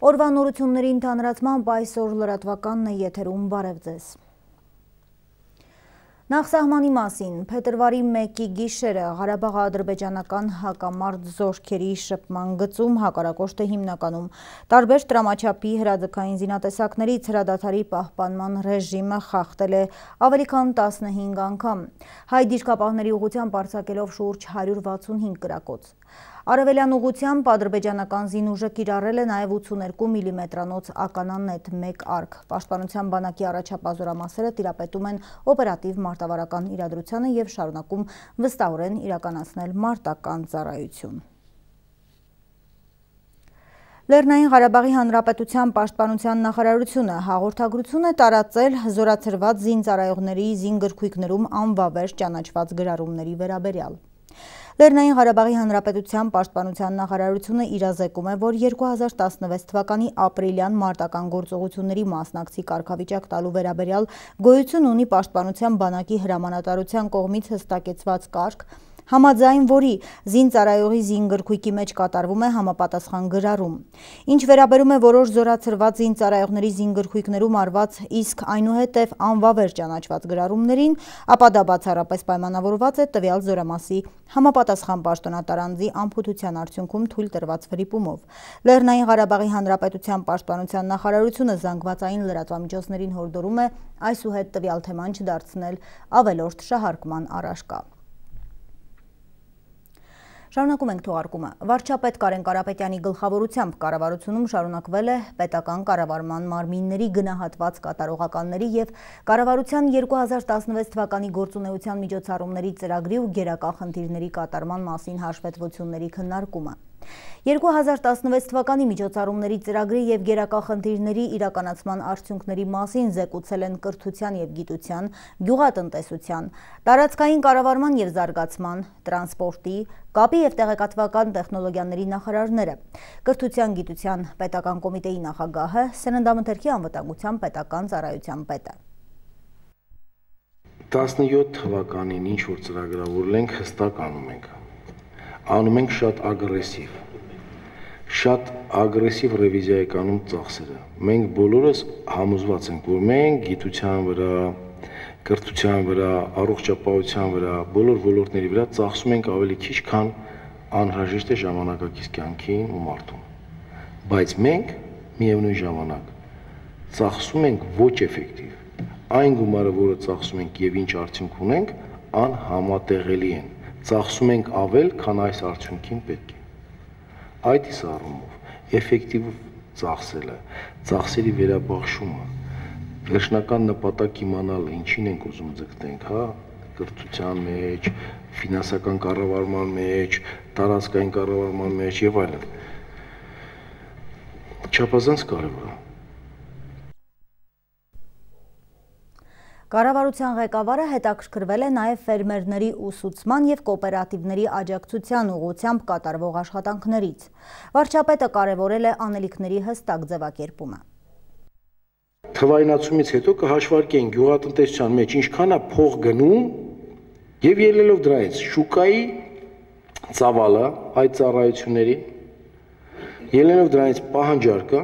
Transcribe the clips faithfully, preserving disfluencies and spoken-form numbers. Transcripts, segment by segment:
Օրվա նորությունների ընդհանրացմամբ այսօր լրատվականն է եթերում, բարև ձեզ։ Նախսահմանի մասին փետրվարի մեկի գիշերը Ղարաբաղ-ադրբեջանական հակամարտ զորքերի շփման գծում հակառակորդը հիմնականում տարբեր տրամաչափի հրաձգային զինատեսակներից հրադադարի պահպանման ռեժիմը խախտել է ավելի քան տասնհինգ անգամ, հայ դիրքապահների ուղղությամբ արձակելով շուրջ հարյուր վաթսունհինգ կրակոց։ Արևելյան ուղղությամբ ադրբեջանական զինուժը կիրառել է նաև ութսուներկու միլիմետրանոց ականանետ մեկ արկ։ Պաշտպանության բանակի առաջապահ զորամասերը տիրապետում են օպերատիվ մարտավարական իրադրությանը և շարունակում վստահորեն իրականացնել մարտական ծառայություն։ Լեռնային Ղարաբաղի Հանրապետության պաշտպանության նախարարությունը հաղորդագրություն է տարածել զորացրված զինծառայողների զինգրքույկներում անվավեր ճանաչված գրառումների վերաբերյալ։ Լեռնային Ղարաբաղի Հանրապետության պաշտպանության նախարարությունը իրազեկում է, որ երկու հազար տասնվեց թվականի ապրիլյան մարտական գործողությունների մասնակցի կարգավիճակ տալու վերաբերյալ գոյություն ունի պաշտպանության բանակի հրամանատարության կողմից հստակեցված կարգ, համաձայն որի զինծառայողի զինգրքույկի մեջ կատարվում է համապատասխան գրառում։ Ինչ վերաբերում է որոշ զորացրված զինծառայողների զինգրքույկներում արված, իսկ այնուհետև անվավեր ճանաչված գրառումներին, ապա դա բացառապես պայմանավորված է տվյալ զորամասի համապատասխան պաշտոնատար անձի անփութության արդյունքում թույլ տրված վրիպումով։ Լեռնային Ղարաբաղի Հանրապետության պաշտպանության նախարարությունը զանգվածային լրատվամիջոցներին հորդորում է այսուհետ տվյալ թեման չդարձնել ավելորդ շահարկման առարկա։ Շարունակում ենք թողարկումը։ Վարչապետ Կարեն Կարապետյանի գլխավորությամբ կառավարությունում շարունակվել է պետական կառավարման մարմինների գնահատված կատարողականների և կառավարության երկու հազար տասնվեց թվականի գործունեության միջոցառումների ծրագրի ու գերակա խնդիրների կատարման մասին հաշվետվությունների քննարկումը։ երկու հազար տասնվեց թվականի միջոցառումների ծրագրի և գերակա խնդիրների իրականացման արդյունքների մասին զեկուցել են կրթության և գիտության, գյուղատնտեսության, տարածքային կառավարման և զարգացման, տրանսպորտի, կապի և տեղեկատվական տեխնոլոգիաների նախարարները, կրթության գիտության պետական կոմիտեի նախագահը, սննդամթերքի անվտանգության պետական ծառայության պետը։ տասնյոթ թվականին ինչ որ ծրագրավորել ենք, հստակ անում ենք։ Անում ենք շատ ագրեսիվ, շատ ագրեսիվ ռևիզիա եք անում ծախսերը։ Մենք բոլորս համոզված ենք, որ մենք գիտության վրա, կրթության վրա, առողջապահության վրա, բոլոր ոլորտների վրա ծախսում ենք ավելի քիչ, քան անհրաժեշտ է ժամանակակից կյանքին ու մարդուն։ Բայց մենք միևնույն ժամանակ ծախսում ենք ոչ էֆեկտիվ։ Այն գումարը, որը ծախսում ենք եւ ինչ արդյունք ունենք, անհամատեղելի են։ Ծախսում ենք ավել, քան այս արդյունքին պետք է։ Այդ իսկ առումով էֆեկտիվ ծախսելը, ծախսերի վերաբաշխումը, վերջնական նպատակ իմանալը, ինչին ենք ուզում ձգտենք, հա, կրթության մեջ, ֆինանսական կառավարման մեջ, տարածքային կառավարման մեջ եւ այլն։ Չափազանց կարևոր է։ Կառավարության ղեկավարը հետաքրքրվել է նաև ֆերմերների ուսուցման և կոոպերատիվների աջակցության ուղղությամբ կատարվող աշխատանքներից։ Վարչապետը կարևորել է անելիքների հստակ ձևակերպումը։ Թվայնացումից հետո կհաշվարկենք գյուղատնտեսության մեջ ինչքան է փող գնում եւ ելնելով դրանից շուկայի ծավալը այդ ծառայությունների, ելնելով դրանից պահանջարկը,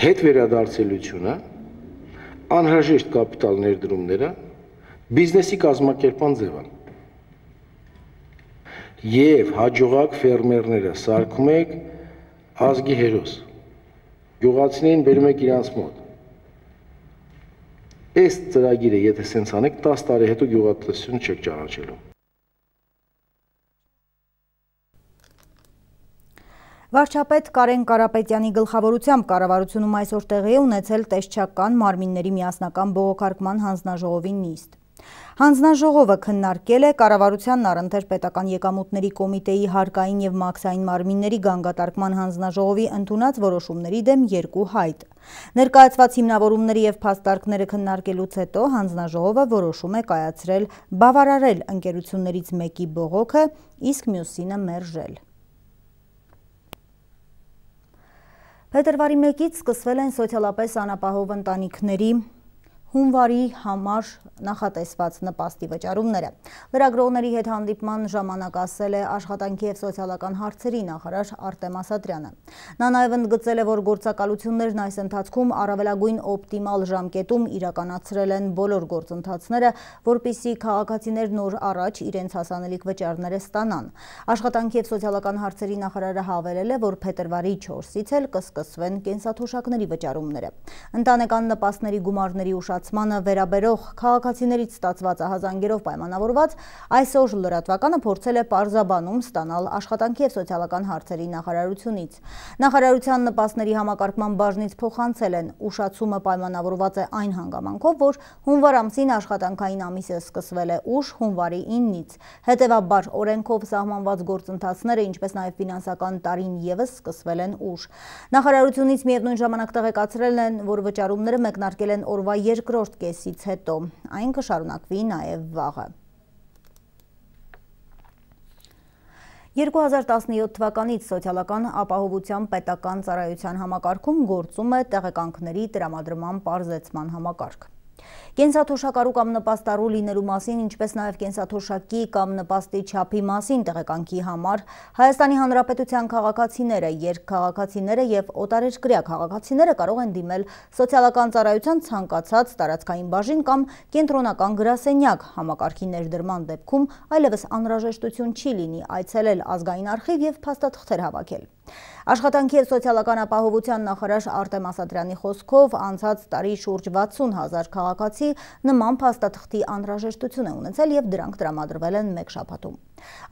հետ վերադարձելիությունը, անհրաժեշտ կապիտալ ներդրումները, բիզնեսի կազմակերպման ձևը։ Եվ հաջողակ ֆերմերները սարքում եք ազգի հերոս, գյուղացիներին բերում եք իրանց մոտ։ Այս ծրագիրը, եթե սենց անեք, տասը տարի հետո գյուղատնտեսություն չեք ճանաչելու։ Վարչապետ Կարեն Կարապետյանի գլխավորությամբ կառավարությունում այսօր տեղի է ունեցել տեսչական մարմինների միասնական բողոքարկման հանձնաժողովի նիստ։ Հանձնաժողովը քննարկել է կառավարությանն առընթեր պետական եկամուտների կոմիտեի հարկային և մաքսային մարմինների գանգատարկման հանձնաժողովի ընդունած որոշումների դեմ երկու հայտ։ Ներկայացված հիմնավորումների և փաստարկները քննարկելուց հետո հանձնաժողովը որոշում է կայացրել բավարարել ընկերություններից մեկի բողոքը, իսկ մյուսինը մերժել։ Փետրվարի մեկից սկսվել են սոցիալապես անապահով ընտանիքների հունվարի համար նախատեսված նպաստի վճարումները։ Լրագրողների հետ հանդիպման ժամանակ ասել է Աշխատանքի և սոցիալական հարցերի նախարար Արտեմ Ասատրյանը։ Նա նաև ընդգծել է, որ գործակալություններն այս ընթացքում առավելագույն օպտիմալ ժամկետում իրականացրել են բոլոր գործընթացները, որպեսզի քաղաքացիներն օր առաջ իրենց հասանելիք վճարները ստանան։ Աշխատանքի և սոցիալական հարցերի նախարարը հավելել է, որ փետրվարի չորսից էլ կսկսվեն կենսաթոշակների վճարումները։ Ընտանեկան նպաստների գումարների ուշացմանը վերաբերող քաղաքացիներից ստացված ահազանգերով պայմանավորված այսօր լրատվականը փորձել է պարզաբանում ստանալ Աշխատանքի և սոցիալական հարցերի նախարարությունից։ Նախարարության նպաստների համակարգման բաժնից փոխանցել են, ուշացումը պայմանավորված է այն հանգամանքով, որ հունվար ամսին աշխատանքային ամիսը սկսվել է ուշ հունվարի իննից։ Հետևաբար օրենքով սահմանված գործընթացները, ինչպես նաև ֆինանսական տարին ևս սկսվել են ուշ։ Նախարարությունից միևնույն ժամանակ տեղեկացրել են, որ վճարումները մեկնարկել են օրվա երկրորդ կեսից հետո, այն կշարունակվի նաև վաղը։ երկու հազար տասնյոթ թվականից սոցիալական ապահովության պետական ծառայության համակարգում գործում է տեղեկանքների տրամադրման պարզեցման համակարգ։ Կենսաթոշակառու կամ նպաստառու լինելու մասին, ինչպես նաև կենսաթոշակի կամ նպաստի չափի մասին տեղեկանքի համար Հայաստանի Հանրապետության քաղաքացիները, երկքաղաքացիները և օտարերկրյա քաղաքացիները կարող են դիմել սոցիալական ծառայության ցանկացած տարածքային բաժին կամ կենտրոնական գրասենյակ։ Համակարգի ներդրման դեպքում այլևս անհրաժեշտություն չի լինի այցելել ազգային արխիվ և փաստաթղթեր հավաքել։ Աշխատանքի և սոցիալական ապահովության նախարար Արտեմ Ասատրյանի խոսքով անցած տարի շուրջ վաթսուն հազար քաղաքացի նման փաստաթղթի անհրաժեշտություն է ունեցել և դրանք տրամադրվել են մեկ շաբաթում։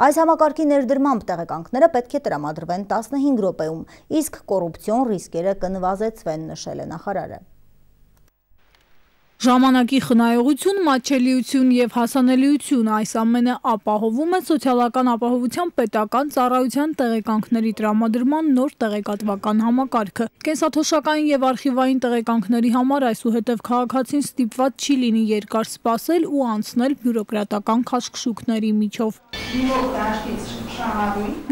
Այս համակարգի ներդրմամբ տեղեկանքները պետք է տրամադրվեն տասնհինգ րոպեում, իսկ կոռուպցիոն ռիսկերը կնվազեցվեն, նշել է նախարարը։ Ժամանակի խնայողություն, մատչելիություն և հասանելիություն այս ամենը ապահովում է սոցիալական ապահովության պետական ծառայության տեղեկանքների տրամադրման նոր տեղեկատվական համակարգը։ Կենսաթոշակային և արխիվային տեղեկանքների համար այսուհետև քաղաքացին ստիպված չի լինի երկար սպասել ու անցնել բյուրոկրատական քաշքշուկների միջով։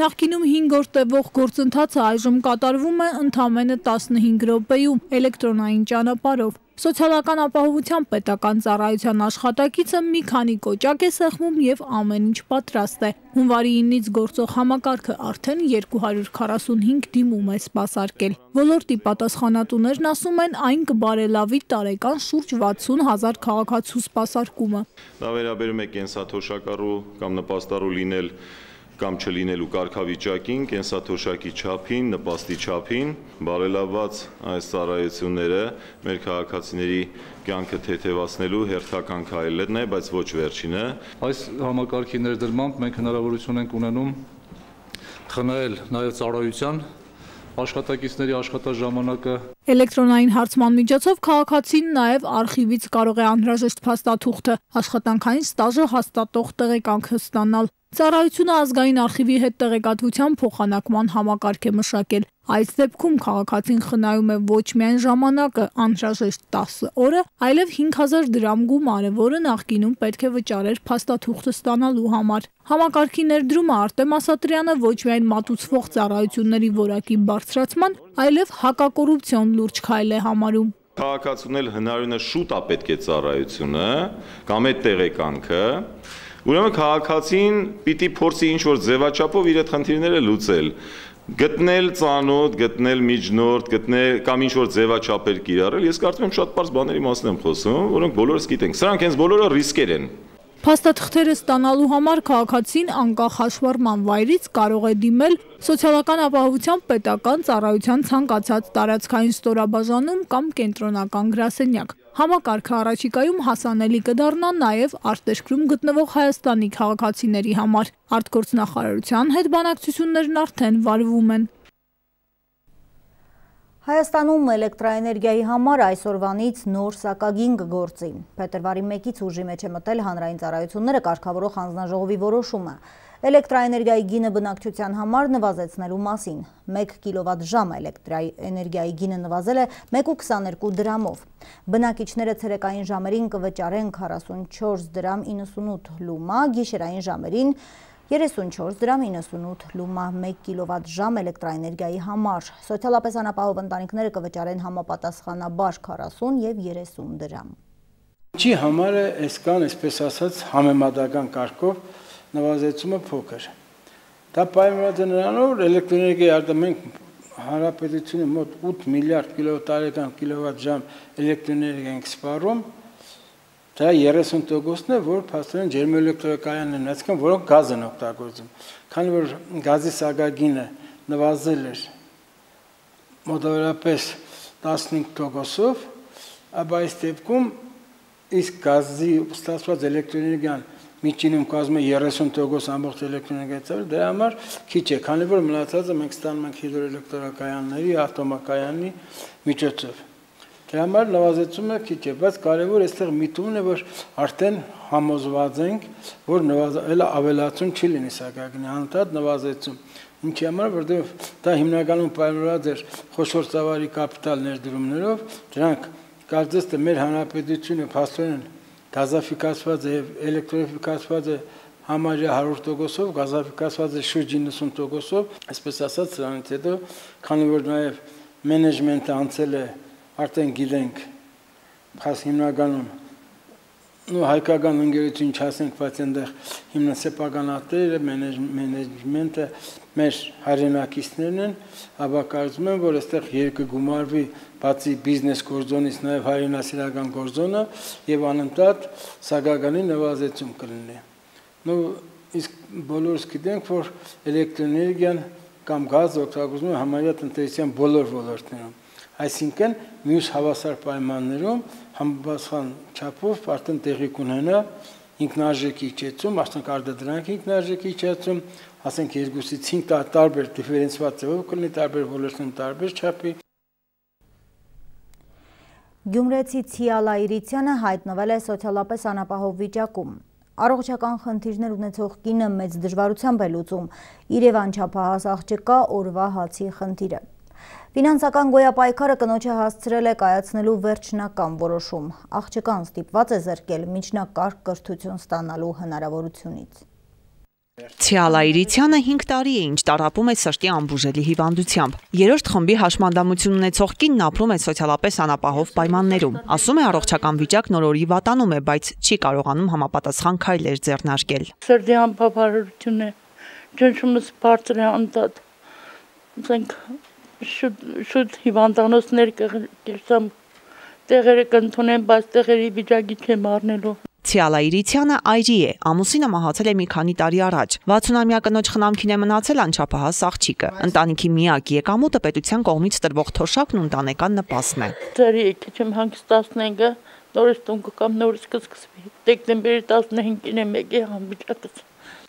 Նախկինում հինգ օր տևող գործընթացը այժմ կատարվում է ընդամենը տասնհինգ րոպեում էլեկտրոնային ճանապարհով։ Սոցիալական ապահովության պետական ծառայության աշխատակիցը մի քանի կոճակ է սեղմում և ամեն ինչ պատրաստ է։ Հունվարի իննից գործող համակարգը արդեն երկու հարյուր քառասունհինգ դիմում է սպասարկել։ Ոլորտի պատասխանատուներն ասում են, այն կբարելավի տարեկան շուրջ վաթսուն հազար քաղաքացու սպասարկումը։ Դա վերաբերում է կենսաթոշակառու կամ նպաստառու լինել կամ չլինելու կարգավիճակին, կենսաթոշակի չափին, նպաստի չափին, բարելավված այս ծառայությունները մեր քաղաքացիների կյանքը թեթևացնելու հերթական քայլն է, բայց ոչ վերջինը։ Այս համակարգի ներդրմամբ մենք հնարավորություն ենք ունենում խնայել նաև ծառայության աշխատակիցների աշխատաժամանակը։ Էլեկտրոնային հարցման միջոցով քաղաքացին նաև արխիվից կարող է անհրաժեշտ փաստաթուղթը, աշխատանքային ստաժը հաստատող տեղեկանքը ստանալ։ Ծառայությունը ազգային արխիվի հետ տեղեկատվության փոխանակման համակարգ է մշակել։ Այս դեպքում քաղաքացին խնայում է ոչ միայն ժամանակը, անհրաժեշտ տասը օրը, այլև հինգ հազար դրամ գումարը, որը նախկինում պետք է վճարեր փաստաթուղթը ստանալու համար։ Համակարգի ներդրումը Արտեմ Ասատրյանը ոչ միայն մատուցվող ծառայությունների որակի բարձրացման, այլև հակակոռուպցիոն լուրջ քայլ է համարում։ Քաղաքացուն էլ հնարավորինս շուտ է պետք է ծառայությունը կամ այդ տեղեկանքը։ Ուրեմն քաղաքացին պիտի փորձի ինչ-որ ձևաչափով իր այդ խնդիրները լուծել, գտնել ծանոթ, գտնել միջնորդ, գտնել կամ ինչ-որ ձևաչափեր կիրառել։ Ես կարծում եմ շատ պարզ բաների մասին եմ խոսում, որոնք բոլորս գիտենք։ Սրանք հենց բոլորը ռիսկեր են։ Փաստաթղթերը ստանալու համար քաղաքացին անկախ հաշվառման վայրից կարող է դիմել սոցիալական ապահովության պետական ծառայության ցանկացած տարածքային ստորաբաժանում կամ կենտրոնական գրասենյակ։ Համակարգը առաջիկայում հասանելի կդառնա նաև արտերկրում գտնվող Հայաստանի քաղաքացիների համար։ Արտգործնախարարության հետ բանակցություններն արդեն վարվում են։ Հայաստանում էլեկտրաէներգիայի համար այսօրվանից նոր սակագին կգործի։ Փետրվարի մեկից ուժի մեջ է մտել հանրային ծառայությունները կարգավորող հանձնաժողովի որոշումը էլեկտրաէներգիայի գինը բնակչության համար նվազեցնելու մասին։ մեկ կիլովատ-ժամ էլեկտրաէներգիայի գինը նվազել է մեկ ու քսաներկու դրամով։ Բնակիչները ցերեկային ժամերին կվճարեն քառասունչորս դրամ իննսունութ լումա, գիշերային ժամերին երեսունչորս դրամ իննսունութ լումա մեկ կիլովատ-ժամ էլեկտրաէներգիայի համար։ Սոցիալապես անապահով ընտանիքները կվճարեն համապատասխանաբար քառասուն և երեսուն դրամ։ Ինչի համար է այս կան, այսպես ասած, համեմատական կարգով նվազեցումը փոքր։ Դա պայմանավորված է նրանով, որ էլեկտրոէներգիայի արտադրում հանրապետությունը մոտ ութ միլիարդ կիլովատարական կիլովատ-ժամ էլեկտրոէներգիա ենք սպառում, դա երեսուն տոկոսն է, որ փաստորեն ջերմաէլեկտրակայաններն են, այսինքն որոնք գազ են օգտագործում։ Քանի որ գազի սակագինը նվազել էր մոտավորապես տասնհինգ տոկոսով, ապա այս դեպքում իսկ գազի ստացված էլեկտրոէներգիան միջինում կազմում է երեսուն տոկոս ամբողջ էլեկտրոէներգիայի, դրա համար քիչ է, քանի որ մնացածը մենք ստանում ենք հիդրոէլեկտրակայանների, ատոմակայանի միջոցով։ Դրա համար նվազեցումը քիչ է, բայց կարևոր այստեղ միտումն է, որ արդեն համոզված ենք, որ նվազել ավելացում չի լինի սակագնի, անընդհատ նվազեցում։ Ինչի համար, որտեղ դա հիմնականում պայմանավորված էր խոշոր ծավալի կապիտալ ներդրումներով, դրանք կարծես թե մեր հանրապետությունը փաստորեն գազաֆիկացված է եւ էլեկտրոֆիկացված է համարյա հարյուր տոկոսով, գազաֆիկացված է շուրջ իննսուն տոկոսով, այսպես ասած, սրանից հետո, քանի որ նաեւ մենեջմենտը անցել է, արդեն գիտենք, փաս հիմնականում նո հայկական ընկերություն չասենք, բայց այնտեղ հիմնասեփականատերը, մենեջմենտը մեր հայրենակիցներն են, ապա կարծում եմ, որ այստեղ երկը գումարվի բացի բիզնես գործոնից նաև հայրենասիրական գործոնը եւ անընդհատ սակագանի նվազեցում կլինի։ Նո իսկ բոլորս գիտենք, որ էլեկտրոէներգիան կամ գազը օգտագործվում է համարյա տնտեսության բոլոր ոլորտներում։ Այսինքն մյուս հավասար պայմաններում համապատասխան չափով արդեն տեղի կունենա ինքնարժեքի իջեցում, ասենք արտադրանքի ինքնարժեքի իջեցում, ասենք երկուսից հինգ տարբեր դիֆերենցված ձևով կլինի տարբեր ոլորտներում տարբեր չափի։ Գյումրեցի Ցիալա Իրիցյանը հայտնվել է սոցիալապես անապահով վիճակում։ Առողջական խնդիրներ ունեցող կինը մեծ դժվարությամբ է լուծում Երևան չափահաս աղջկա օրվա հացի խնդիրը։ Ֆինանսական գոյապայքարը կնոջը հասցրել է կայացնելու վերջնական որոշում։ Աղջկան ստիպված է զրկել միջնակարգ կրթություն ստանալու հնարավորությունից։ Ցիալա Իրիցյանը հինգ տարի է ինչ տառապում է սրտի անբուժելի հիվանդությամբ։ Երրորդ խմբի հաշմանդամություն ունեցող կինն ապրում է սոցիալապես անապահով պայմաններում։ Ասում է առողջական վիճակն օր-օրի վատանում է, բայց չի կարողանում համապատասխան քայլեր ձեռնարկել։ Սրտի անբավարարություն է, ճնշումս բարձր է անդադ։ Ասենք շուտ շուտ հիվանդանոցներ կերսամ տեղերը կընդունեն, բայց տեղերի վիճակի չեմ առնելու։ Ցիալա Իրիցյանը այրի է, ամուսինը մահացել է մի քանի տարի առաջ։ վաթսունամյա կնոջ խնամքին է մնացել անչափահաս աղջիկը։ Ընտանիքի միակ եկամուտը պետության կողմից տրվող թոշակն ու ընտանեկան նպաստն է։ Ծերի եկիչ եմ հանգիստ տասնհինգը, նորից տուն կգամ, նորից կսկսվի։ Դեկտեմբերի տասնհինգին է մեկի անվիճակս։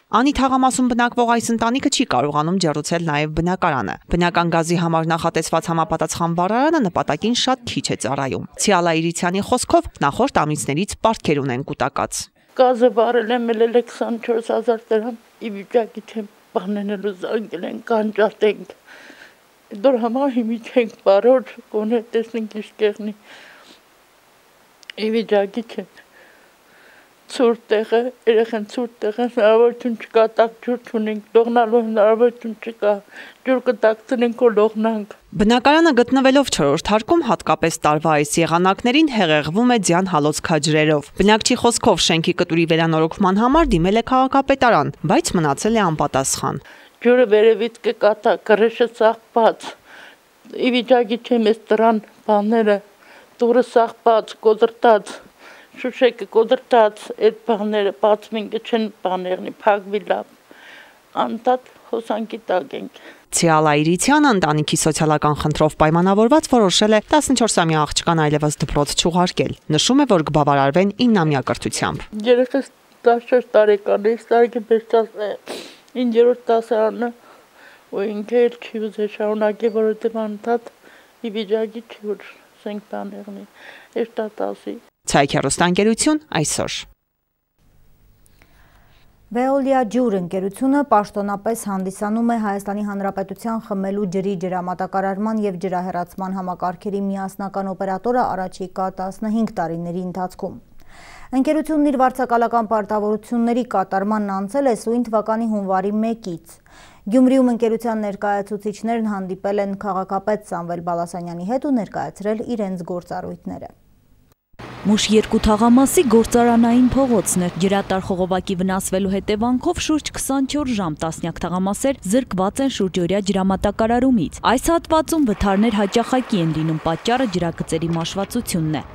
Անի թաղամասում բնակվող այս ընտանիքը չի կարողանում ջեռուցել նաև բնակարանը։ Բնական գազի համար նախատեսված համապատասխան վառարանը նպատակին շատ քիչ է ծառայում։ Ցիալա Իրիցյանի խոսքով նախորդ ամիսներից պարտքեր ունեն կուտակած։ Գազը վառել եմ էլ քսանչորս հազար դրամ, ի վիճակի չեմ բանենելու զանգել են կանջատենք։ Դոր համար հիմի չենք բարոր, կոնե տեսնենք ինչ կեղնի։ Ի վիճակի չեմ։ Ցուրտ տեղը, երեխան ցուրտ տեղը, հնարավորություն չկա, տակ ջուր չունենք, լողնալու հնարավորություն չկա, ջուր կտակցնենք ու լողնանք։ Բնակարանը գտնվելով չորրորդ հարկում հատկապես տարվա այս եղանակներին հեղեղվում է ձյան հալոց քաջրերով։ Բնակչի խոսքով շենքի կտուրի վերանորոգման համար դիմել է քաղաքապետարան, բայց մնացել է անպատասխան։ Ջուրը վերևից կկատա, կռեշը սաղբաց, ի վիճակի չեմ էս դրան բաները, դուրը սաղբաց, կոտրտած, շուշեկը կոտրտած, այդ բաները բացվին չեն բաներնի, փակվի լավ, անտատ հոսանքի տակ ենք։ Ցիալա Իրիցյանը ընտանիքի սոցիալական խնդրով պայմանավորված որոշել է տասնչորսամյա աղջկան այլևս դպրոց չուղարկել։ Նշում է, որ կբավարարվեն իննամյա կրթությամբ։ Երեխաս տասնչորս տարեկան է, ստարգի բերծած է, ինջերորդ դասարանը, ու ինքը էլ չի ուզել շարունակել, որովհետև անընդհատ ի վիճակի չի, որ սենք բաներնի, էշտատասի։ Ցայք հեռուստաընկերություն այսօր։ Veolia ջուր ընկերությունը պաշտոնապես հանդիսանում է Հայաստանի Հանրապետության խմելու ջրի ջրամատակարարման և ջրահեռացման համակարգերի միասնական օպերատորը առաջիկա տասնհինգ տարիների ընթացքում։ Ընկերությունն իր վարձակալական պարտավորությունների կատարմանն անցել է սույն թվականի հունվարի մեկից։ Գյումրիում ընկերության ներկայացուցիչներն հանդիպել են քաղաքապետ Սամվել Բալասանյանի հետ ու ներկայացրել իրենց գործառույթները։ Մուշ երկու թաղամասի գործարանային փողոցն էր։ Ջրատար խողովակի վնասվելու հետևանքով շուրջ քսանչորս ժամ տասնյակ թաղամասեր զրկված են շուրջօրյա ջրամատակարարումից։ Այս հատվածում վթարներ հաճախակի են լինում, պատճառը ջրագծերի մաշվածությունն է։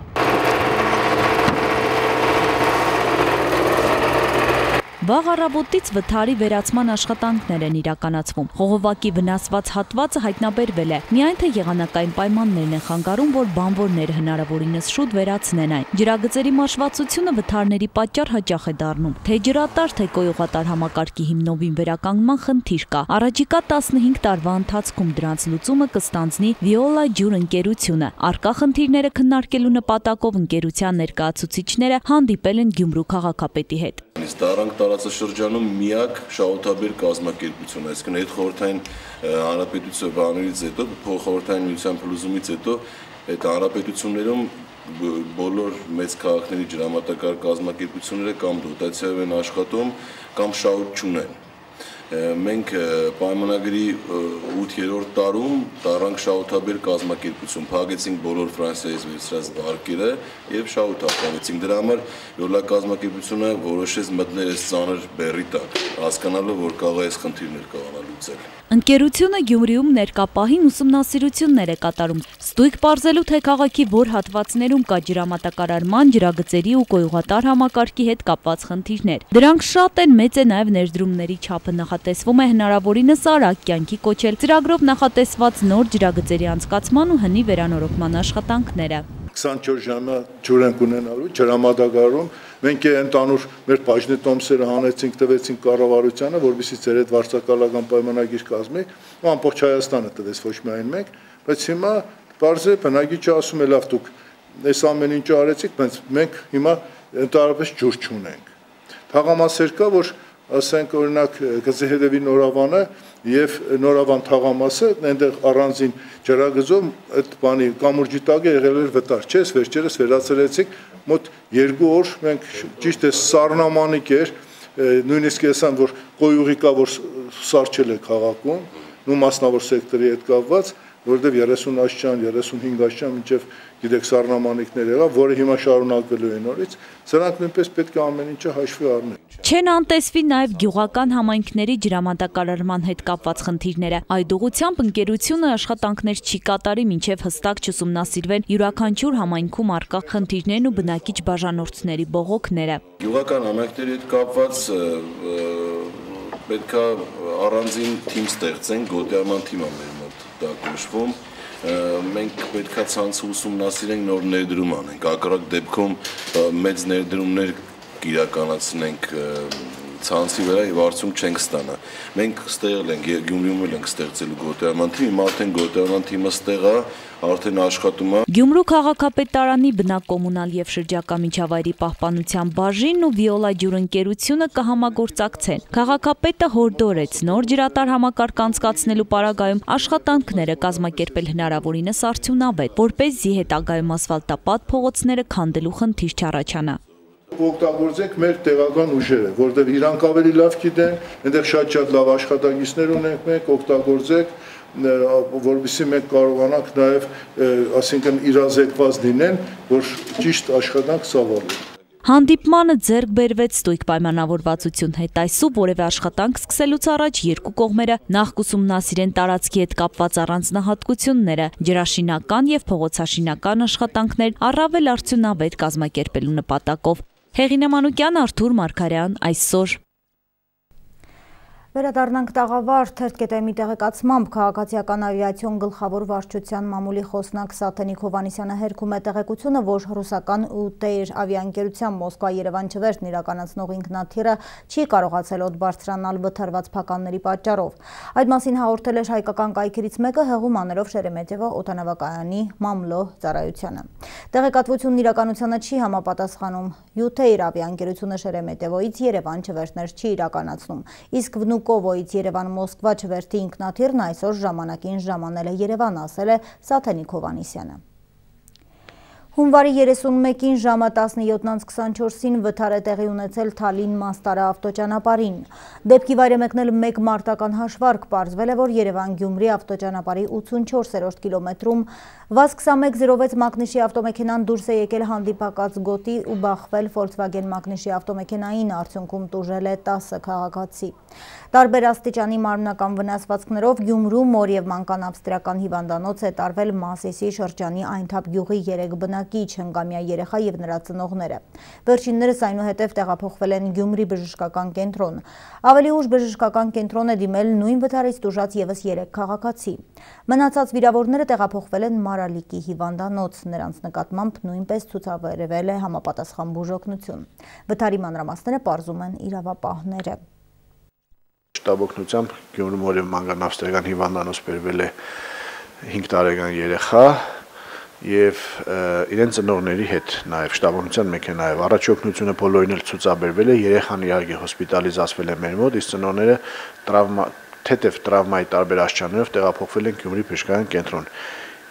Վաղ առավոտից վթարի վերացման աշխատանքներ են իրականացվում։ Խողովակի վնասված հատվածը հայտնաբերվել է։ Միայն թե եղանակային պայմաններն են խանգարում, որ բանվորները հնարավորինս շուտ վերացնեն այն։ Ջրագծերի մաշվածությունը վթարների պատճառ հաճախ է դառնում։ Թե ջրատար, թե կոյուղատար համակարգի հիմնովին վերականգնման խնդիր կա։ Առաջիկա տասնհինգ տարվա ընթացքում դրանց լուծումը կստանձնի Վիոլա ջուր ընկերությունը։ Առկա խնդիրները քննարկելու նպատակով ընկերության ներկայացուցիչները հանդիպել են Գյումրու քաղաքապետի հետ։ Տարանք տարածաշրջանում միակ շահութաբեր կազմակերպություն, այսինքն այդ խորհրդային հանրապետության բաններից հետո, փոխխորհրդային միության փլուզումից հետո այդ հանրապետություններում բոլոր մեծ քաղաքների ջրամատակարար կազմակերպությունները կամ դոտացիայով են աշխատում, կամ շահութ չունեն։ Մենք պայմանագրի ութերորդ տարում տարանք շահութաբեր կազմակերպություն, փակեցինք բոլոր Ֆրանսիայից վերցրած վարկերը եւ շահութ արտանեցինք։ Դրա համար Վիոլա կազմակերպությունը որոշեց մտնել այս ծանր բեռի տակ, հասկանալով, որ կարող է այս խնդիրներ կարողանալ լուծել։ Ընկերությունը Գյումրիում ներկապահին ուսումնասիրություններ է կատարում, ստույգ պարզելու, թե քաղաքի որ հատվածներում կա ջրամատակարարման, ջրագծերի ու կոյուղատար համակարգի հետ կապված խնդիրներ։ Դրանք շատ են, մեծ է նաև ներդրումների չափը նախատեսվում է հնարավորինս արագ կյանքի կոչել ծրագրով նախատեսված նոր ջրագծերի անցկացման ու հնի վերանորոգման աշխատանքները։ քսանչորս ժամյա ջուր ենք ունենալու ջրամատակարարում։ Մենք ընդանուր մեր բաժնետոմսերը հանեցինք, տվեցինք կառավարությանը, որովհետեւ ծեր այդ վարձակալական պայմանագիր կազմի, ու ամբողջ Հայաստանը տվեց, ոչ միայն մենք, բայց հիմա բարձր բնակիչը ասում է լավ դուք այս ամեն ինչը արեցիք, բայց մենք հիմա ընդհանրապես ջուր չունենք։ Թաղամասեր կա, որ ասենք օրինակ Գծեհեդևի նորավանը եւ նորավան թաղամասը այնտեղ առանձին ջրագծով այդ բանի կամուրջի տակ եղել էր վտար, չէ՞, վերջերս վերացրեցիք մոտ երկու օր մենք ճիշտ է սառնամանիկ էր, նույնիսկ ասեմ որ կոյուղի կա որ սարչել է քաղաքում, նու մասնավոր սեկտորի հետ կապված, որովհետև երեսուն աշճան, երեսունհինգ աշճան մինչև գիտեք սառնամանիքներ եղավ, որը հիմա շարունակվելու է նորից, սրանք նույնպես պետք է ամեն ինչը հաշվի առնել։ Չեն անտեսվի նաև գյուղական համայնքների ջրամատակարարման հետ կապված խնդիրները։ Այդ ուղղությամբ ընկերությունը աշխատանքներ չի կատարի, մինչև հստակ չուսումնասիրվեն յուրաքանչյուր համայնքում առկա խնդիրներն ու բնակիչ բաժանորդների բողոքները։ Գյուղական համայնքների հետ կապված պետք է առանձին թիմ ստեղծեն, գոտիարման թիմը մեր մոտ դա կոչվում։ Մենք պետք է ցանցը ուսումնասիրենք, նոր ներդրում անենք, ակրակ դեպքում մեծ ներդրումներ իրականացնենք ցանցի վրա եւ արդյունք չենք ստանա։ Մենք ստեղել ենք Գյումրիում ենք ստեղծելու գոտիարման թիմ, հիմա արդեն գոտիարման թիմը ստեղ է, արդեն աշխատում է։ Գյումրու քաղաքապետարանի բնակկոմունալ եւ շրջակա միջավայրի պահպանության բաժինն ու Վիոլա ջուր ընկերությունը կհամագործակցեն։ Քաղաքապետը հորդորեց նոր ջրատար համակարգ անցկացնելու պարագայում աշխատանքները կազմակերպել հնարավորինս արդյունավետ, որպեսզի հետագայում ասֆալտապատ փողոցները քանդելու խնդիր չառաջանա։ Օգտագործենք մեր տեղական ուժերը, որտեղ իրանք ավելի լավ գիտեն, այնտեղ շատ-շատ լավ աշխատակիցներ ունենք մենք, օգտագործեք, որովհետեւ մենք կարողանանք նաև, ասինքն իրազեկված լինեն, որ ճիշտ աշխատանք ծավալեն։ Հանդիպմանը ձեռք բերվեց ստույգ պայմանավորվածություն հետայսու որևէ աշխատանք սկսելուց առաջ երկու կողմերը նախ կուսումնասիրեն տարածքի հետ կապված առանձնահատկությունները, ջրաշինական եւ փողոցաշինական աշխատանքներ առավել արդյունավետ կազմակերպելու նպատակով։ Հեղինե Մանուկյան, Արթուր Մարգարյան, այսօր։ Վերադառնանք տաղավար թերթկետեմի տեղեկացմամբ քաղաքացիական ավիացիոն գլխավոր վարչության մամուլի խոսնակ Սաթենիկ Հովանիսյանը հերքում է տեղեկությունը, որ ռուսական ՈՒՏԵԻՐ ավիաընկերության Մոսկվա-Երևան չվերթն իրականացնող ինքնաթիռը չի կարողացել օդ բարձրանալ վթարված փականների պատճառով։ Այդ մասին հաղորդել էր հայկական կայքերից մեկը հեղում աներով Շերեմետևո օդանավակայանի մամլո ծառայությանը։ Տեղեկատվությունն իրականությանը չի համապատասխանում։ ՈՒՏԵԻＲ ավիաընկերությունը Շերեմետևոից Երևան չվերթներ չի իրականացնում, իսկ Վնուկովոից Երևան-Մոսկվա չվերթի ինքնաթիռն այսօր ժամանակին ժամանել է Երևան, ասել է Սաթենիկ Հովանիսյանը։ Հունվարի երեսունմեկին ժամը տասնյոթ քսանչորսին վթար է տեղի ունեցել Թալին-Մաստարա ավտոճանապարհին։ Դեպքի վայր է մեկնել մեկ մարտական հաշվարկ, պարզվել է, որ Երևան-Գյումրի ավտոճանապարհի ութսունչորսերորդ կիլոմետրում վազ քսանմեկ զիրո վեց մակնիշի ավտոմեքենան դուրս է եկել հանդիպակաց գոտի ու բախվել Volkswagen մակնիշի ավտոմեքենային, արդյունքում տուժել է տասը քաղաքացի։ Տարբեր աստիճանի մարմնական վնասվածքներով Գյումրու մոր և մանկան ավստրիական հիվանդանոց է տարվել Մասիսի շրջանի Այնթապ գյուղի երեք բնակիչ, հնգամյա երեխա և նրա ծնողները։ Վերջիններս այնուհետև տեղափոխվել են Գյումրի բժշկական կենտրոն։ Ավելի ուշ բժշկական կենտրոն է դիմել նույն վթարից տուժած ևս երեք քաղաքացի։ Մնացած վիրավորները տեղափոխվել են Մարալիկի հիվանդանոց, նրանց նկատմամբ նույնպես ցուցաբերվել է համապատասխան բուժօգնություն։ Վթարի մանրամասները պարզում են իրավապահները։ Շտաբօգնությամբ Գյումրու մոր և մանկան ավստրիական հիվանդանոց բերվել է հինգ տարեկան երեխա և իրեն ծնողների հետ նաև շտաբօգնության մեկ է նաև առաջօգնությունը բոլորին էլ ցուցաբերվել է, երեխան իհարկե հոսպիտալիզացվել է մեր մոտ, իսկ ծնողները տրավմա թեթև տրավմայի տարբեր աստիճաններով տեղափոխվել են Գյումրի բժշկական կենտրոն։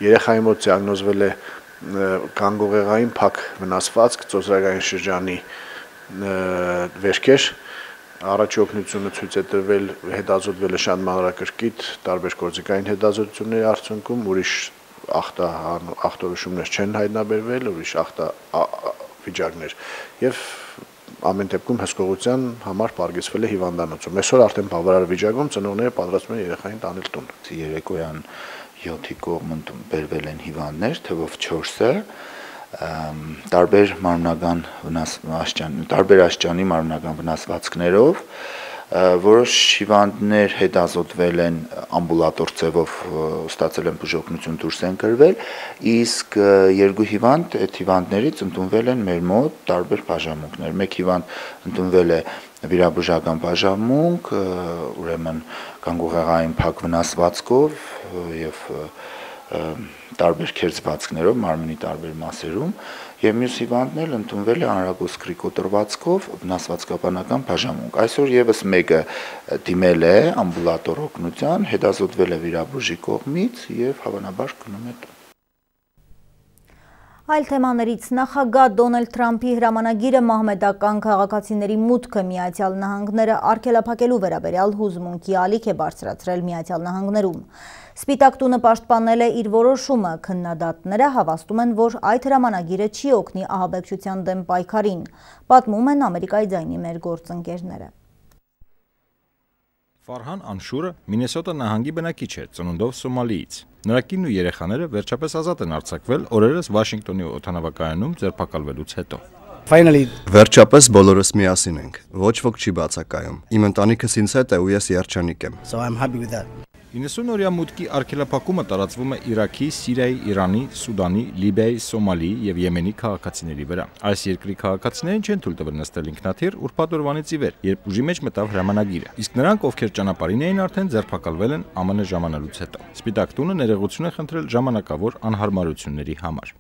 Երեխայի մոտ դիագնոզվել է գանգուղեղային փակ վնասվածք, ծոծրակային շրջանի վերքեր, առաջօգնությունը ցույց է տրվել, հետազոտվել է շատ մանրակրկիտ տարբեր գործիքային հետազոտությունների արդյունքում, ուրիշ ախտորոշումներ չեն հայտնաբերվել, ուրիշ ախտավիճակներ եւ ամեն դեպքում հսկողության համար պարգևվել է հիվանդանոցում։ Այսօր արդեն բավարար վիճակում ծնողները պատրաստվում են երեխային տանել տուն։ Երեկոյան յոթի կողմ բերվել են հիվանդներ, թվով չորսը, տարբեր մարմնական վնասվածքներ, տարբեր աստիճանի մարմնական վնասվածքներով, որոշ հիվանդներ հետազոտվել են ամբուլատոր ձևով, ստացել են բուժօգնություն, դուրս են գրվել, իսկ երկու հիվանդ այդ հիվանդներից ընդունվել են մեր մոտ տարբեր բաժանմունքներ։ Մեկ հիվանդ ընդունվել է վիրաբուժական բաժանմունք, ուրեմն գանգուղեղային փակ վնասվածքով եւ տարբեր քերծվածքներով մարմնի տարբեր մասերում, եւ մյուս հիվանդն էլ ընդունվել է անրագոսկրի կոտրվածքով վնասվածքաբանական բաժանմունք։ Այսօր եւս մեկը դիմել է ամբուլատոր օգնության, հետազոտվել է վիրաբույժի կողմից եւ հավանաբար գնում է տուն։ Այլ թեմաներից նախագահ Դոնալդ Թրամփի հրամանագիրը մահմեդական քաղաքացիների մուտքը Միացյալ Նահանգները արգելափակելու վերաբերյալ հուզմունքի ալիք է բարձրացրել Միացյալ Նահանգներում։ Սպիտակ տունը պաշտպանել է իր որոշումը, քննադատները հավաստում են, որ այդ հրամանագիրը չի օգնի ահաբեկչության դեմ պայքարին, պատմում են Ամերիկայի ձայնի մեր գործընկերները։ Ֆարհան Անշուրը Մինեսոտա նահանգի բնակիչ է, ծնունդով Սոմալիից։ Նրա կինն ու երեխաները վերջապես ազատ են արձակվել օրերս Վաշինգտոնի օդանավակայանում ձերբակալվելուց հետո։ Վերջապես բոլորս միասին ենք, ոչ ոք չի բացակայում։ Իմ ընտանիքս ինձ հետ է ու ես երջանիկ եմ։ իննսուն-օրյա մուտքի արգելափակումը տարածվում է Իրաքի, Սիրիայի, Իրանի, Սուդանի, Լիբիայի, Սոմալիի եւ Եմենի քաղաքացիների վրա։ Այս երկրի քաղաքացիներին չեն թույլ տվել նստել ինքնաթիռ ուրբաթ օրվանից ի վեր, երբ ուժի մեջ մտավ հրամանագիրը։ Իսկ նրանք, ովքեր ճանապարհին էին արդեն ձերբակալվել են ԱՄՆ ժամանելուց հետո։ Սպիտակ տունը ներողություն է խնդրել ժամանակավոր անհարմարությունների համար։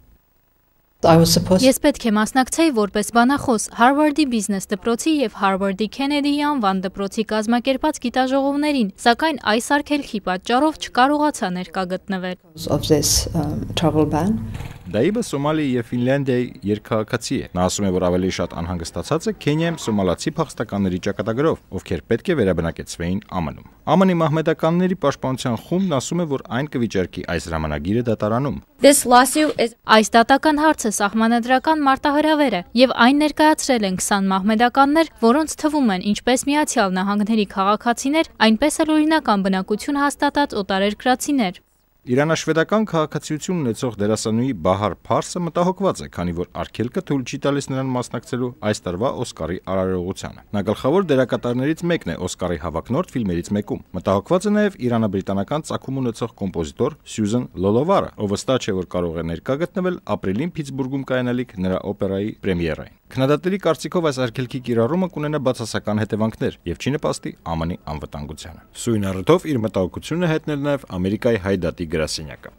Ես պետք է մասնակցեի որպես բանախոս Հարվարդի բիզնես դպրոցի եւ Հարվարդի Քենեդիի անվան դպրոցի կազմակերպած գիտաժողովներին, սակայն այս արգելքի պատճառով չկարողացա ներկա գտնվել։ Դա իբը Սոմալիայի եւ Ֆինլանդիայի երկքաղաքացի է։ Նա ասում է, որ ավելի շատ անհանգստացած է Քենիայում սոմալացի փախստականների ճակատագրով, ովքեր պետք է վերաբնակեցվեին ԱՄՆ-ում։ ԱՄՆ-ի մահմեդականների պաշտպանության խումբն ասում է, որ այն կվիճարկի այս հրամանագիրը դատարանում։ Այս դատական հարցը սահմանադրական մարտահրավեր է եւ այն ներկայացրել են քսան մահմեդականներ, որոնց թվում են ինչպես Միացյալ Նահանգների քաղաքացիներ, այնպես էլ օրինական բնակություն հաստատած օտարերկրացիներ։ Իրանաշվեդական քաղաքացիություն ունեցող դերասանուհի Բահար Փարսը մտահոգված է, քանի որ արգելքը թույլ չի տալիս նրան մասնակցելու այս տարվա Օսկարի արարողությանը։ Նա գլխավոր դերակատարներից մեկն է Օսկարի հավակնորդ ֆիլմերից մեկում։ Մտահոգված է նաև իրանաբրիտանական ծագում ունեցող կոմպոզիտոր Սյուզան Լոլովարը, ով վստահ չէ, որ կարող է ներկա գտնվել ապրիլին Փիթսբուրգում կայանալիք նրա օպերայի պրեմիերային։ Քննադատների կարծիքով այս արգելքի կիրառումը կունենա բացասական հետևանքներ եւ չի նպաստի ԱՄՆ-ի անվտանգությանը։ Սույն առիթով իր մտահոգությունը հետնել նաեւ Ամերիկայի հայդատի գրասենյակը։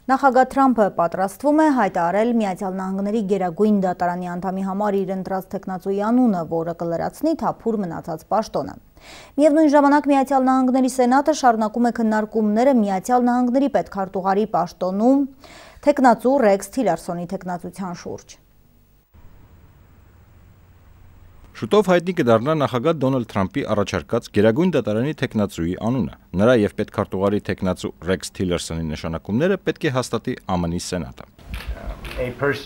Նախագահ Թրամփը պատրաստվում է հայտարարել Միացյալ Նահանգների Գերագույն դատարանի անդամի համար իր ընտրած թեկնածուի անունը, որը կլրացնի թափուր մնացած պաշտոնը։ Միևնույն ժամանակ Միացյալ Նահանգների Սենատը շարունակում է քննարկումները Միացյալ Նահանգների պետքարտուղարի պաշտոնում թեկնածու Ռեքս Թիլերսոնի թեկնածության շուրջ։ Շուտով հայտնի կդառնա նախագահ Դոնալդ Թրամփի առաջարկած Գերագույն դատարանի թեկնածուի անունը։ Նրա եւ պետքարտուղարի թեկնածու Ռեքս Թիլերսոնի նշանակումները պետք է հաստատի Α M N-ի Սենատը։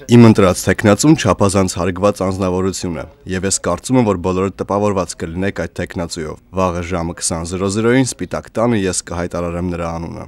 Իմ ընտրած թեկնածուն չափազանց հարգված անձնավորություն է, եւ ես կարծում եմ, որ բոլորը տպավորված կլինեք այդ թեկնածուով։ Վաղը ժամը քսան զրո զրոյին Սպիտակ տանը ես կհայտարարեմ նրա անունը։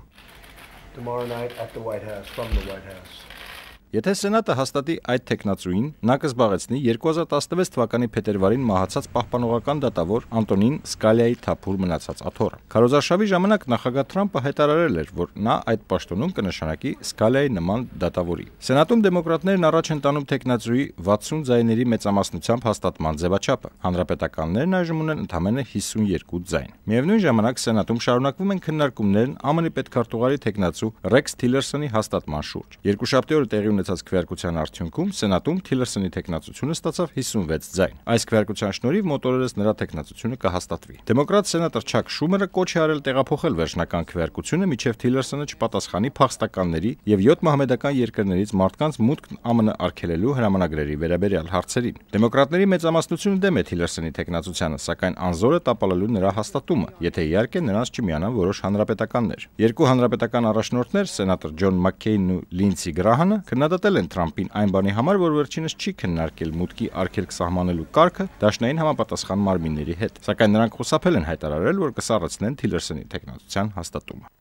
Եթե Սենատը հաստատի այդ թեկնածուին, նա կզբաղեցնի երկու հազար տասնվեց թվականի փետրվարին մահացած պահպանողական դատավոր Անտոնին Սկալիայի թափուր մնացած աթոռը։ Քարոզարշավի ժամանակ նախագահ Թրամփը հայտարարել էր, որ նա այդ պաշտոնում կնշանակի Սկալիայի նման դատավորի։ Սենատում դեմոկրատներն առաջ են տանում թեկնածուի վաթսուն ձայների մեծամասնությամբ հաստատման ձևաչափը։ Հանրապետականներն այժմ ունեն ընդամենը հիսունյոթ ձայն։ Միևնույն ժամանակ Սենատում շարունակվում են քննարկումներն Ა M N-ի պետքարտուղարի թեկնածու Ռեքս Թիլերսոնի հաստատման շուրջ։ Երկուշաբթի օրը տեղի ունեցած քվեարկության արդյունքում Սենատում Թիլերսոնի թեկնածությունը ստացավ հիսունվեց ձայն։ Այս քվեարկության շնորհիվ մոտորերս նրա թեկնածությունը կհաստատվի։ Դեմոկրատ սենատոր Չակ Շումերը կոչ է արել տեղափոխել վերջնական քվեարկությունը, մինչև Թիլերսոնը չպատասխանի փախստականների եւ յոթ մահմեդական երկրներից մարդկանց մուտքն Ა M N արգելելու հրամանագրերի վերաբերյալ հարցերին։ Դեմոկրատների մեծամասնությունը դեմ է Թիլերսոնի թեկնածությանը, սակայն անզոր է տապալելու նրա հաստատումը, եթե իհարկե նրանց չմիանան որոշ հանրապետականներ։ Երկու հանրապետական առաջնորդներ, սենատոր Ջոն Մաքքեյնն ու Լինսի Գրահանը, քննադատել են Թրամփին այն բանի համար, որ վերջինս չի քննարկել մուտքի արգելք սահմանելու կարգը դաշնային համապատասխան մարմինների հետ, սակայն նրանք խուսափել են հայտարարել, որ կսառեցնեն Թիլերսոնի թեկնածության հաստատումը։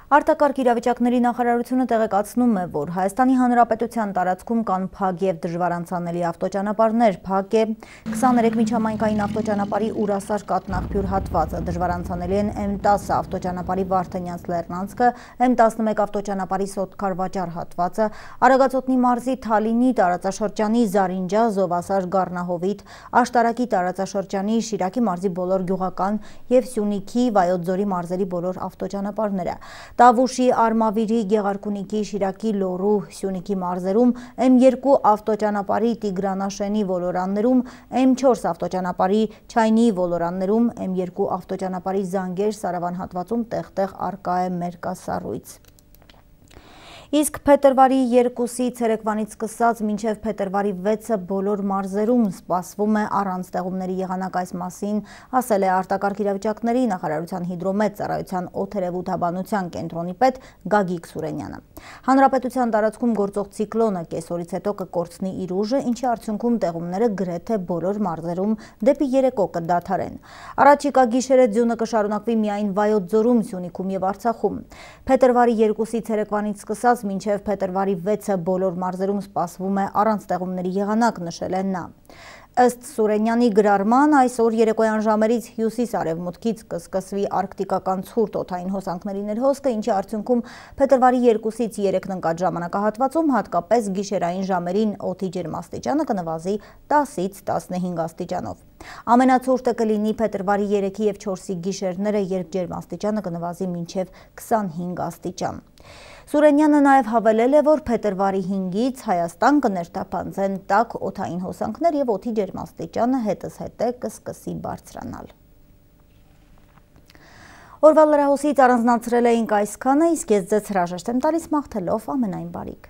Արտակարգ իրավիճակների նախարարությունը տեղեկացնում է, որ Հայաստանի Հանրապետության տարածքում կան փակ եւ դժվարանցանելի ավտոճանապարհներ, փակ է քսաներեք միջհամայնքային ավտոճանապարհի Ուրասար կատնաղբյուր հատվածը, դժվարանցանելի են M տասը ավտոճանապարհի Վարդանյանց Լեռնանցքը, M տասնմեկ ավտոճանապարհի Սոտկար-Վաճառ հատվածը, Արագածոտնի մարզի Թալինի տարածաշրջանի Զարինջա, Զովասար, Գառնահովիտ, Աշտարակի տարածաշրջանի Շիրակի մարզի բոլոր գյուղական եւ Սյունիքի, Վայոց ձորի մարզերի բոլոր ավտոճանապարհները։ Տավուշի, Արմավիրի, Գեղարքունիքի, Շիրակի, Լոռու, Սյունիքի մարզերում, M երկու ավտոճանապարհի Տիգրանաշենի ոլորաններում, M չորս ավտոճանապարհի Չայնի ոլորաններում, M երկու ավտոճանապարհի Զանգեր, Սարավան հատվածում տեղ-տեղ առկա է մերկասառույց։ Իսկ փետրվարի երկուսի ցերեկվանից սկսած մինչև փետրվարի վեցը բոլոր մարզերում սպասվում է առանց տեղումների եղանակ, այս մասին ասել է արտակարգ իրավիճակների նախարարության հիդրոմետ ծառայության օդերևութաբանության կենտրոնի պետ Գագիկ Սուրենյանը։ Հանրապետության տարածքում գործող ցիկլոնը կեսօրից հետո կկորցնի իր ուժը, ինչի արդյունքում տեղումները գրեթե բոլոր մարզերում դեպի երեկո կդադարեն։ Առաջիկա գիշերը ձյունը կշարունակվի միայն Վայոց ձորում, Սյունիքում եւ Արցախում։ Փետրվարի երկուսի ցերեկվանից սկսած մինչև փետրվարի վեցը բոլոր մարզերում սպասվում է առանց տեղումների եղանակ, նշել է նա։ Ըստ Սուրենյանի գրառման, այսօր երեկոյան ժամերից հյուսիս-արևմուտքից կսկսվի արկտիկական ցուրտ օդային հոսանքների ներհոսքը, ինչի արդյունքում փետրվարի երկուսից երեքն ընկած ժամանակահատվածում, հատկապես գիշերային ժամերին օդի ջերմաստիճանը կնվազի տասից տասնհինգ աստիճանով։ Ամենացուրտը կլինի փետրվարի երեքի եւ չորսի գիշերները, երբ ջերմաստիճանը կնվազի մինչև քսանհինգ աստիճան։ Սուրենյանը նաև հավելել է, որ փետրվարի հինգից Հայաստան կներթափանցեն տաք օդային հոսանքներ եւ օդի ջերմաստիճանը հետզհետե կսկսի բարձրանալ։ Օրվա լրահոսից առանձնացրել էինք այսքանը, իսկ ես ձեզ հրաժեշտ եմ տալիս մաղթելով ամենայն բարիք։